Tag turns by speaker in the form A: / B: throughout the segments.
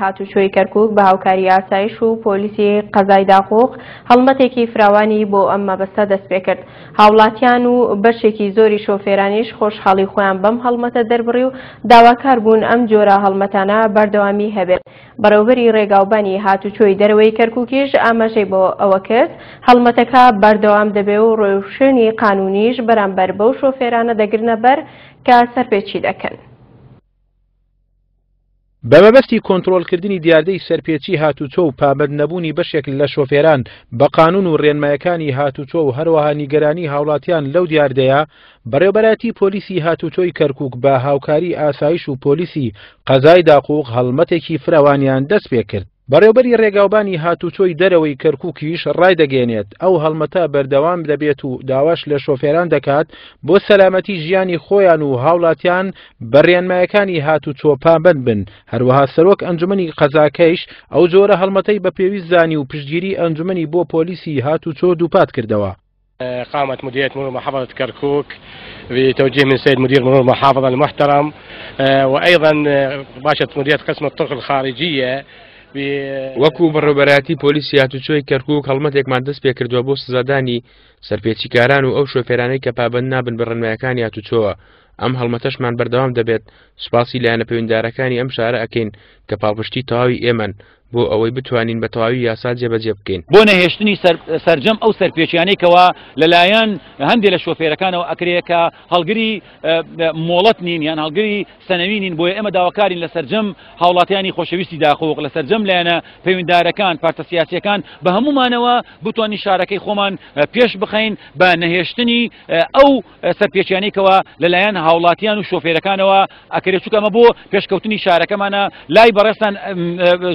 A: هاتوچۆی کەرکوک بە هاوکاری ئاسایش و پۆلیسی قەزای داقوق هەڵمەتێکی فراوانی بۆ ئەم مەبەستە دەستپێکرد. هاوڵاتیان و بەشێکی زۆری شۆفێرانیش خۆشحاڵی خۆیان بەم هەڵمەتە دەربڕی و داواکار بوون ئەم جۆرە هەڵمەتانە بەردەوامی هەبێت. بەڕێوبەری ڕێگاوبانی هاتوچۆی دەرەوەی کەرکوکیش ئاماژەی بۆ ئەوە کرد، هەڵمەتەکە بەردەوام دەبێ و ڕێوشوێنی قانونیش بەرامبەر بەو شۆفێرانە دەگرنە بەر کە سەرپێچی دەکەن.
B: بە مەبەستی کۆنترۆڵکردنی دیاردەی سەرپێچی هاتوچۆ و پابەند نەبوونی بەشێک لە شۆفێران بە قانون و رێنمایەکانی هاتوچۆ و هەروەها نیگەرانی هاوڵاتیان لەو دیاردەیە، بەڕێوبەرایەتی پۆلیسی هاتوچۆی کەرکوک بە هاوکاری ئاسایش و پۆلیسی قەزای داقوق هەڵمەتێکی فراوانیان دەستپێکرد. بەڕێوبەری ڕێگاوبانی هاتوچۆی دەرەوەی کەرکوکیش ڕایدەگەیەنێت، ئەو هەڵمەتە بەردەوام دەبێت و داواش لە شۆفێران دەکات بۆ سەلامەتی ژیانی خۆیان و هاوڵاتیان بە ڕێنمایەکانی هاتوچۆ پابەند بن، هەروەها سەرۆک ئەنجومەنی قەزاکەیش ئەو جۆرە هەڵمەتەی بە پێویست زانی و پشتگیری ئەنجومەنی بۆ پۆلیسی هاتوچۆ دووپات کردەوە.
C: قامت مديرية مرور محافظة كركوك بتوجيه من سيد مدير مرور المحافظة المحترم وأيضا باشة مديرية قسم الطرق الخارجية
D: وەکو بەڕێوبەرایەتی پۆلیسی هاتوچۆی کەرکوک هەڵمەتێکمان دەست پێکردووە بۆ سزادانی سەرپێچیکاران و ئەو شۆفێرانەی کە پابەند نابن بە ڕێنمایەکانی هاتوچۆوە ئەم هەڵمەتەشمان بەردەوام دەبێت سوپاسی لایەنە پەیوەندیدارەکانی ئەم شارە ئەکەین کە پاڵپشتی تەواوی ئێمەن بۆ ئەوەی بتوانین بە تەواوی یاسا جێبەجێ بکەین.
E: بۆ نەهێشتنی سەرجەم ئەو سەرپێچیانەی کەوا لەلایەن هەندێ لە شۆفێرەکانەوە ئەکرێ کە هەڵگری مۆڵەت نین یان هەڵگری سەنەوی نین، بۆیە ئێمە داواکارین لە سەرجەم هاوڵاتیانی خۆشەویستی داقوق، لە سەرجەم لایەنە پەیوەنددارەکان، پارتە سیاسیەکان بە هەموومانەوە بتوانین شارەکەی خۆمان پێش بخەین بە نەهێشتنی ئەو سەرپێچیانەی کەوا لەلایەن هاوڵاتیان و شۆفێرەکانەوە ئەکرێت، چونکە ئەمە بۆ پێشکەوتنی شارەکەمانە. لای بەڕێزتان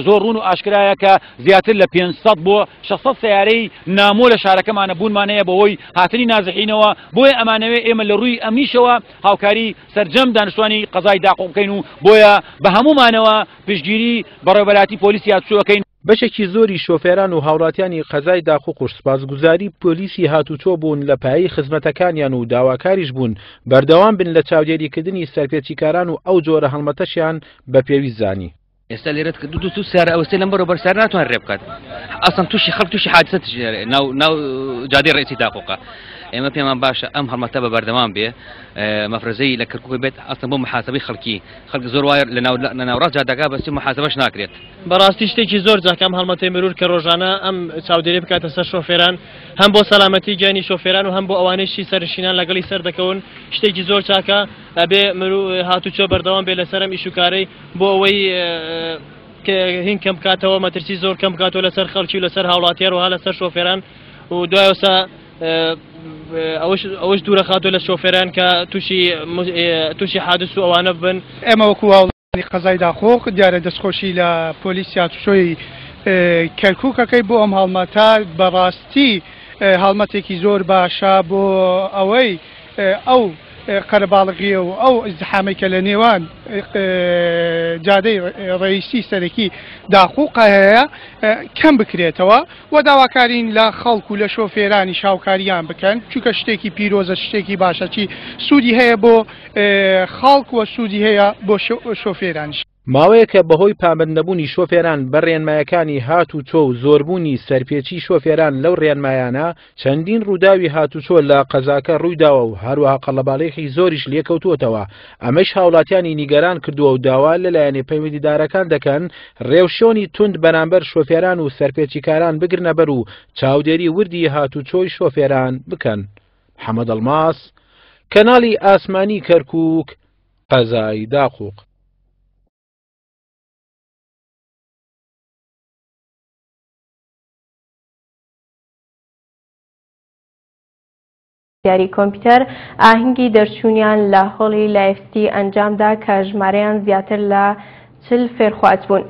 E: زۆر ڕوون و ئاشکرایە کە زیاتر لە 500 بۆ 600 سەیارەی نامۆ لە شارەکەمانە بوونمان هەیە بەهۆی هاتنی نازحینەوە، بۆیە ئەمانەوێ ئێمە لە ڕووی ئەمنیشەوە هاوکاری سەرجەم دانیشتوانی قەزای داقوق بکەین و بۆیە بە هەموومانەوە پشتگیری بەڕێوەبەرایەتی پۆلیسی هاتوچۆ ئەکەین.
B: بەشێکی زۆری شۆفێران و هاوڵاتیانی قەزای داقوقوش سوپاسگوزاری پۆلیسی هاتوچۆ بوون لە پایەی خزمەتەکانیان و داواکاریش بوون بەردەوام بن لە چاودێریکردنی سەرپێچیکاران و ئەو جۆرە هەڵمەتەشیان بە پێویست زانی.
F: ئێستا لێرە دوو دوو سیارە ئەوەستێ لەم بەرەو بەر سیارە ناتوانێت رێ بکات ئەسڵەن تووشی خەڵک تووشی حادسە ناو ناو جادەی ڕئیسی داقوقە ئێمە پێمان باشە ئەم هەڵمەتە بە بەردەوام بێ مەفرەزەی لە کەرکوک بێت ئەسڵەن بۆ محاسبەی خەڵکی خەڵک زۆر وایە لە ناو لە ناوڕاست جادەکە بەستی محاسبەش ناکرێت.
G: بەڕاستی شتێکی زۆر جاکە ئەم هەڵمەتەی مرور کە ڕۆژانە ئەم چاودێری بکاتە سەر شۆفێران هەم بۆ سەلامەتی گیانی شۆفێران و هەم بۆ ئەوانەیشی سەرنشینان لەگەڵی سەردەکەون شتێکی زۆر چاکە ئەبێ مرو هاتوچۆ بەردەوام بێ لەسەر ئەم ئیش و کارەی بۆ ئەوەی هین کەم بکاتەوە مەترسی زۆر کەم بکاتەوە لەسەر خەڵکی و لەسەر هاوڵاتیار و ها لەسەر شۆفێران و دوایەوسا ئەوەش ئەوەش دوورەخاتەوە لە شۆفێران کە تووشی تووشی حادث و ئەوانە بن.
H: ئێمە وەکو هاوڵاتیانی قەزای داقوق دیارە دەستخۆشی لە پۆلیسی هاتوچۆی کەرکوک ئەکەی بۆ ئەم هەڵمەتە بەڕاستی هەڵمەتێکی زۆر باشە بۆ ئەوەی ئەو قەرەباڵغیە و ئەو ئیزدحامەی کە لە نێوان جادەی ڕئیسی سەرەکی داقوق هەیە کەم بکرێتەوە و داواکارین لە خەڵک و لە شۆفێرانیش هاوکاریان بکەن چونکە شتێکی پیرۆزە شتێکی باشە چی سوودی هەیە بۆ خەڵک و سوودی هەیە بۆ شۆفێرانیش.
B: ماوەیەکە بەهۆی پابەندنەبوونی شۆفێران بە رێنمایەکانی هاتوچۆ و زۆربوونی سەرپێچی شۆفێران لەو رێنمایانە چەندین رووداوی هاتوچۆ لە قەزاکە روویداوە و هەروەها قەڵەباڵیخی زۆریش لێکەوتووەتەوە، ئەمەش هاوڵاتیانی نیگەران کردووە و داوا لە لایەنە پەیوەندیدارەکان دەکەن رێوشۆنی توند بەرامبەر شۆفێران و سەرپێچیکاران بگرنەبەر و چاودێری وردی هاتوچۆی شۆفێران بکەن. محەمەد ئەڵماس، کەناڵی ئاسمانی کەرکوک، قەزای داقوق.
A: یاری کۆمپیوتەر ئاهەنگی دەرچوونیان لە هۆڵی لایف ستی ئەنجامدا کە ژمارەیان زیاتر لە 40 فێرخواز بوون.